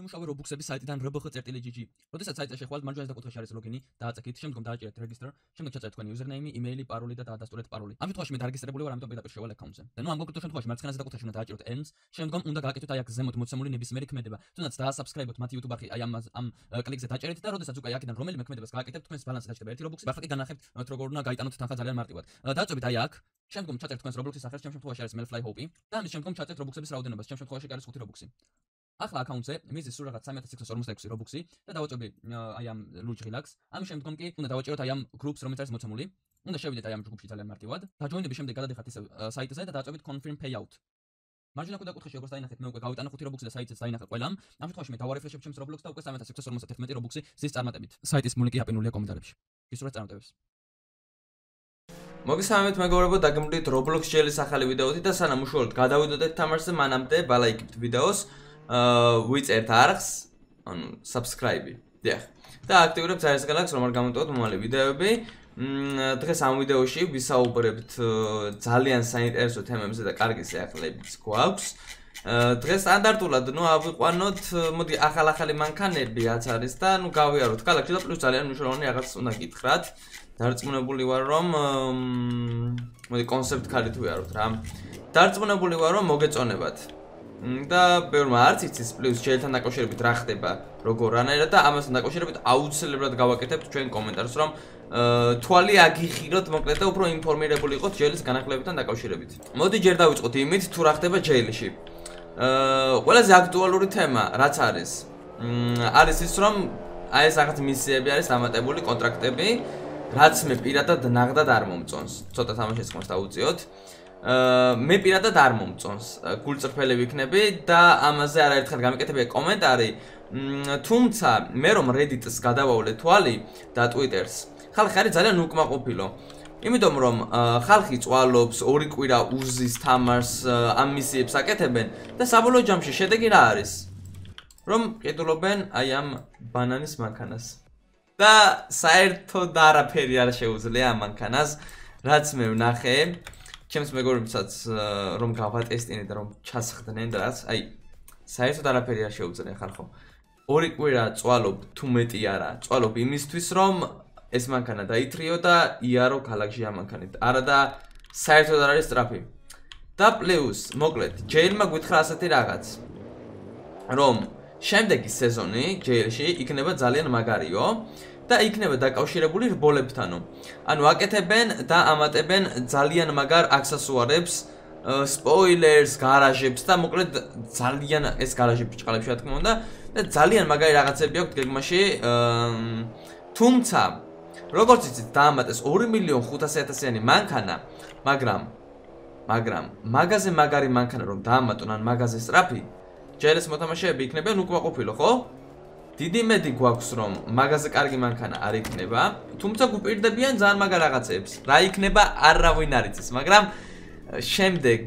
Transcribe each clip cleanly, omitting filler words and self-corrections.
მოიმუშავე Roblox-ების საიტიდან rbx.gg. როდესაც საიტზე შეხვალთ, მარჯვენა საკუთხეში არის ლოგინი, დააწექით, შემდგომ დააჭერეთ register, შემდეგ ჩაწერეთ თქვენი username, email, paroli და დაადასტურეთ paroli. ამ შემთხვევაში მე დარეგისტრირებული ვარ, ამიტომ პირდაპირ შევალ account-ზე. და ნუ ამ კონკრეტულ შემთხვევაში მარცხენა საკუთხეში უნდა დააჭეროთ ends, შემდგომ უნდა გააკეთოთ აი აქ ზემოთ მოცემული ნებისმიერი ქმედება. თუნდაც დაასაბსკრაიბოთ მათი YouTube არხი, აი ამ კლიკზე დაჭერეთ და როდესაც უკვე აქედან რომელიმე ქმედებას გააკეთებთ, თქვენს ბალანსზე დაჭერება ერთი Roblox-ი, ახლა კი განახებთ როგორ უნდა გაიტანოთ თანხა ძალიან მარტივად. დააწვევით აი აქ, შემდგომ ჩაწერთ თქვენს Roblox-ის სახელს, ჩემ შემთხვევაში არის Melfly Hope და ამის შემდგომ ჩაწერთ Roblox-ების რაოდენობას, ჩემ შემთხვევაში არის 5 Roblox-ი. ახლა account-ზე მიზის სულ რაღაც 3646 Robux-ი და დავაჭრები აი ამ Luge Relax. ამის შემდგომ კი უნდა დავაჭეროთ აი ამ groups, რომელიც არის მოცემული. უნდა შევიდეთ აი ამ ჯგუფში ძალიან მარტივად. დაჯოინების შემდეგ გადადიხართ ისევ საიტზე და დააწვევით confirm payout. მარჯვენა კუთხეში როგორც დაინახეთ, მე უკვე გავიტანა 5 Robux-ი და საიტზეც დაინახა ყველამ. ამ შემთხვევაში მე დავარეფრეშებ ჩემს Roblox და უკვე 3651 Robux-ი ზის წარმატებით. საიტის ლინკი აპინულია კომენტარებში. გისურვებთ წარმატებებს. მოგესალმებით მეგობრებო, დაგემშვიდობთ Roblox ჯელის ახალი ვიდეოთი და სანამ უშუალოდ გადავიდოდეთ თამაშზე, მანამდე ბალაიკებთ ვიდეოს, ვიწერთ არხს, ანუ subscribe-ი. დიახ. და აქტივირებთ ზარისგალაკს, რომ არ გამოტოვოთ მომავალი ვიდეოები. დღეს ამ ვიდეოში ვისაუბრებთ ძალიან საინტერესო თემებზე და კარგი სიახლეებიც გვაქვს. დღეს სტანდარტულად, ავიყვანოთ, მოდი ახალ-ახალი მანქანები რაც არის და გავიაროთ ქალაქში და პლუს ძალიან მნიშვნელოვანი რაღაც უნდა გითხრათ. დარწმუნებული ვარ, რომ მოდი კონცეპტ ქარით ვიაროთ რა. დარწმუნებული ვარ, რომ მოგეწონებათ. და ბევრმა არც იცის პლუს ჯელთან დაკავშირებით რა ხდება, როგორ რანაირად და ამასთან დაკავშირებით აუცილებლად გავაკეთებთ ჩვენ კომენტარს, რომ თვალი აგიხილოთ მოკლედ და უფრო ინფორმირებული იყოთ ჯელის განახლებებთან დაკავშირებით. მოდი ჯერ დავიწყოთ იმით, თუ რა ხდება ჯელში. ყველაზე აქტუალური თემა რაც არის ის, რომ აი ეს რაღაც მისიები არის დამატებული კონტრაქტები, რაც მე პირადად ნაღდად არ მომწონს. ცოტა თამაშის ხმას დავუწიოთ. მე პირადად არ მომწონს. გულწრფელი ვიქნები და ამაზე არაერთხელ გამიკეთებია კომენტარი. თუმცა მე რომ Reddit-ს გადავავლე თვალი და Twitter-ს, ხალხი არის ძალიან უკმაყოფილო. იმიტომ რომ ხალხი წვალობს, 2 კვირა უზის თამაშს, ამ მისიებს აკეთებენ და საბოლოო ჯამში შედეგი რა არის? რომ ყიდულობენ აი ამ ბანანის მანქანას. და საერთოდ არაფერი არ შეუძლია ამ მანქანას, რაც მე ვნახე. ჩემს მეგობრებსაც რომ გავატესტინე და რომ ჩასხდნენ და რაც, აი საერთოდ არაფერი არ შეუძლია ხალხო. 2 კვირა წვალობ თუ მეტი არა, წვალობ იმისთვის რომ ეს მანქანა დაითრიო და იარო ქალაქში ამ მანქანით. არა და საერთოდ არ არის სწრაფი. და პლუს, მოკლედ, ჯეილმა გითხრა ასეთი რაღაც, რომ შემდეგი სეზონი ჯეილში იქნება ძალიან მაგარიო და იქნება დაკავშირებული რბოლებთანო. ანუ აკეთებენ და ამატებენ ძალიან მაგარ აქსესუარებს, სპოილერს, გარაჟებს და მოკლედ ძალიან ეს გარაჟები ჭყალებში რა თქმა უნდა და ძალიან მაგარი რაღაცები აქვს გეგმაში. თუმცა როგორც იცით, დაამატეს 2.500.000-იანი მანქანა, მაგრამ მაგაზე მაგარი მანქანა რომ დაამატონ ან მაგაზე სწრაფი, ჯელის მოთამაშეები იქნებიან უკმაყოფილო, ხო? დიდი მედი გვაქვს რომ მაგაზე კარგი მანქანა არ იქნება, თუმცა გვპირდებიან ძალიან მაგარ რაღაცებს. რა იქნება არავინ არ იცის, მაგრამ შემდეგ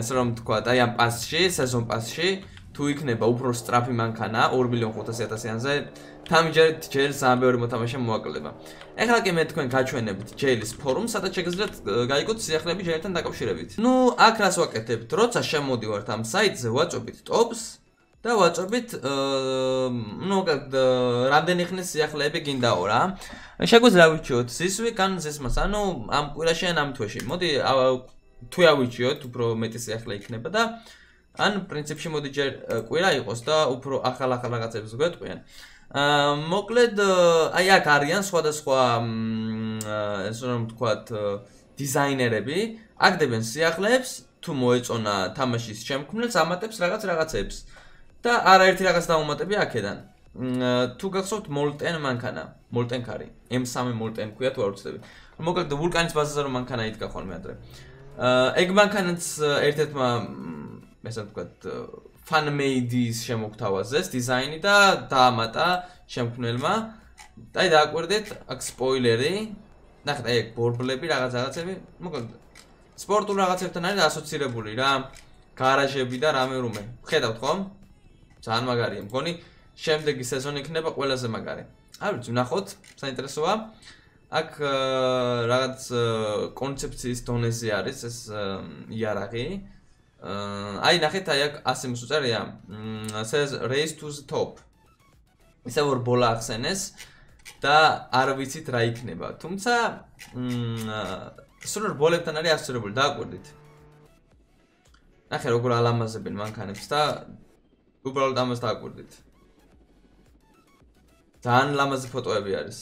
ეს რომ თქვა, აი ამ პასში, სეზონ პასში თუ იქნება უფრო სწრაფი მანქანა 2.500.000-იანზე, თამჯერით ჯელის ძალიან ბევრი მოთამაშე მოაკლდება. ეხლა კი მე თქვენ გაჩვენებთ ჯელის ფორუმს, სადაც შეგიძლიათ გაიგოთ სიახლეები ჯელთან დაკავშირებით. აქ რას ვაკეთებთ? როცა შემოდივართ ამ საიტზე, ვაწვევით ტოპს და ვაწვევით რამდენი ხნის სიახლეები გინდაო რა. შეგვიძლია ავიჩიოთ ზისვიკ ან ზისმას, ანუ ამ კვირაში ან ამ თვეში. მოდი თუ ავიჩიოთ, უფრო მეტი სიახლე იქნება და ან პრინციპში მოდი ჯერ კვირა იყოს და უფრო ახალ რაღაცებს გვეტყვიან. მოკლედ აი აქ არიან სხვადასხვა ეს რომ ვთქვათ დიზაინერები, აგდებენ სიახლეებს, თუ მოეწონა თამაშის შემქმნელს, ამატებს რაღაცებს. და არაერთი რაღაც დაუმატები აქედან. თუ გახსოვთ Molten მანქანა, Molten კარი, M3 Molten ქვია თუ არ ვცდები. მოკლედ ვულკანის ბაზაზე რომ მანქანა იდგა ხოლმე ადრე. ეგ მანქანაც ერთ-ერთმა ესე ვთქვათ fan-made-ის შემოგთავაზეს დიზაინი და დაამატა შემქმნელმა. და აი დააკვირდეთ აქ სპოილერი. ნახეთ აი ეგ ბორბლები რაღაცები, მოკლედ სპორტულ რაღაცებთან არის ასოცირებული რა. გარაჟები და რამე. ხედავთ ხო? ძალიან მაგარია. მგონი შემდეგი სეზონი იქნება ყველაზე მაგარი. არ ვიცი, ვნახოთ, საინტერესოა. აქ რაღაც კონცეფციის დონეზე არის ეს იარაღი. აი ნახეთ, აი აქ 100 მოსუწერია. says race to the top. ისე որ ბოლა ახსენეს და არ ვიცით რა იქნება. თუმცა სულ ბოლებთან არის ასოცირებული, დააკვირდით. ნახე როგორ ალამაზებენ მანქანებს და უბრალოდ ამას დააკვირდით. ძალიან ლამაზი ფოტოები არის.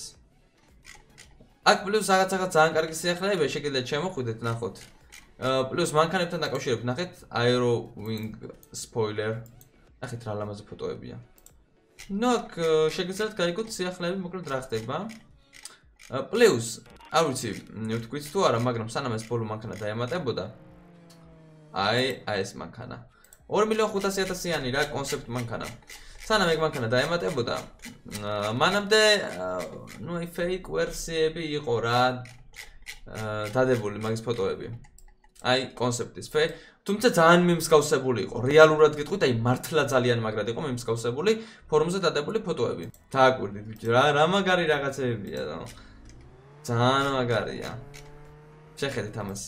აქ პლუს რაღაც ძალიან კარგი სიახლეებია, შეგიძლიათ შემოხვიდეთ, ნახოთ. პლუს მანქანებთან დაკავშირებით, ნახეთ, Aero Wing spoiler. ნახეთ რა ლამაზი ფოტოებია. ნუ აქ შეგიძლიათ გაიგოთ სიახლეები, მოკლედ რა ხდება. პლუს, არ ვიცი, ვთქვით თუ არა, მაგრამ სანამ ეს ბოლო მანქანა დაემატებოდა. აი ეს მანქანა. 2.500.000-იანი რა კონცეპტ მანქანა. სანამ ეგ მანქანა დაემატებოდა, მანამდე ნუ აი fake ვერსიები იყო რა დადებული მაგის ფოტოები. აი კონცეპტის თუმცა ძალიან მიმსგავსებული იყო. რეალურად გეტყვით, აი მართლა ძალიან მაგრად იყო მიმსგავსებული ფორუმზე დადებული ფოტოები. დააკვირდით ბიჭი, რა მაგარი რაღაცებია რა. ძალიან მაგარია. შეხედეთ ამას.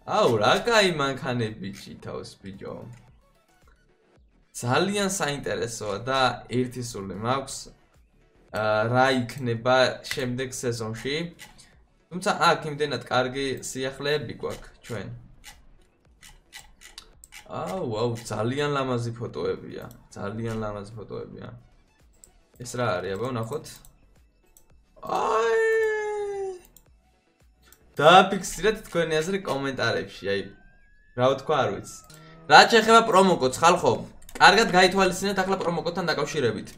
აუ რა კაი მანქანები ბიჭი თავს ბიჭო. ძალიან საინტერესოა და ერთი სული მაქვს რა იქნება შემდეგ სეზონში. თუმცა აქ იმდენად კარგი სიახლეები გვაქვს ჩვენ. აუ ძალიან ლამაზი ფოტოებია. ძალიან ლამაზი ფოტოებია. ეს რა არის აბა ნახოთ. აი დააფიქსირეთ თქვენი აზრი კომენტარებში, აი რა ვთქვა არ ვიცი. რაც შეეხება პრომო კოდს ხალხო, კარგად გაითვალისწინეთ ახლა პრომო კოდთან დაკავშირებით.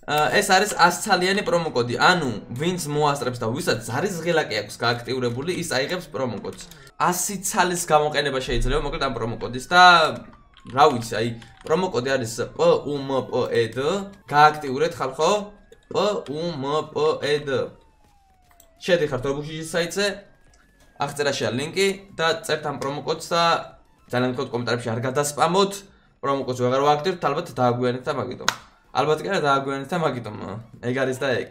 ეს არის 100-ცალიანი პრომო კოდი, ანუ ვინც მოასწრებს და ვისაც ზარის ღილაკი აქვს გააქტიურებული, ის აიღებს პრომო კოდს. 100 ცალის გამოყენება შეიძლება მოკლედ ამ პრომო კოდის და რა ვიცი, აი პრომო კოდი არის PUMPED, გააქტიურეთ ხალხო, PUMPED. შედიხართ რობუქშიშის საიტზე, აღწერაშია ლინკი და წერთ ამ პრომო კოდს და ძალიან გქონდ კომენტარებში არ გადასპამოთ. პრომო კოდს ვეღარ ვაქტიურებთ, ალბათ დააგვიანეთ და მაგიტომ. ალბათ კი არა დააგვიანეთ და მაგიტომ. ეგ არის და ეგ.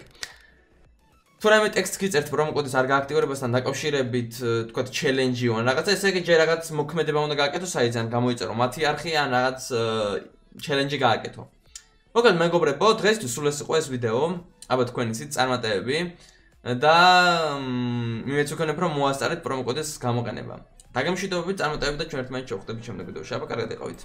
თუ რაიმე ტექსტს გიწერთ პრომო კოდის არ გააქტიურებასთან დაკავშირებით, თქვათ ჩელენჯი ან რაღაცა, ესე იგი ჯერ რაღაც მოქმედება უნდა გააკეთო საიტზე, ან გამოიწერო მათი არხი ან რაღაც ჩელენჯი გააკეთო. მოკლედ მეგობრებო, დღესთვის სულ ეს იყო ეს ვიდეო. აბა თქვენი ცით წარმატებები. და იმეც ვქონებ რომ მოასწარეთ პრომო კოდის გამოყენება. დაგემშვიდობებით, წარმატებებით და ჩვენ ერთმანეთს შევხვდებით შემდეგ ვიდეოში. აბა კარგად იყავით.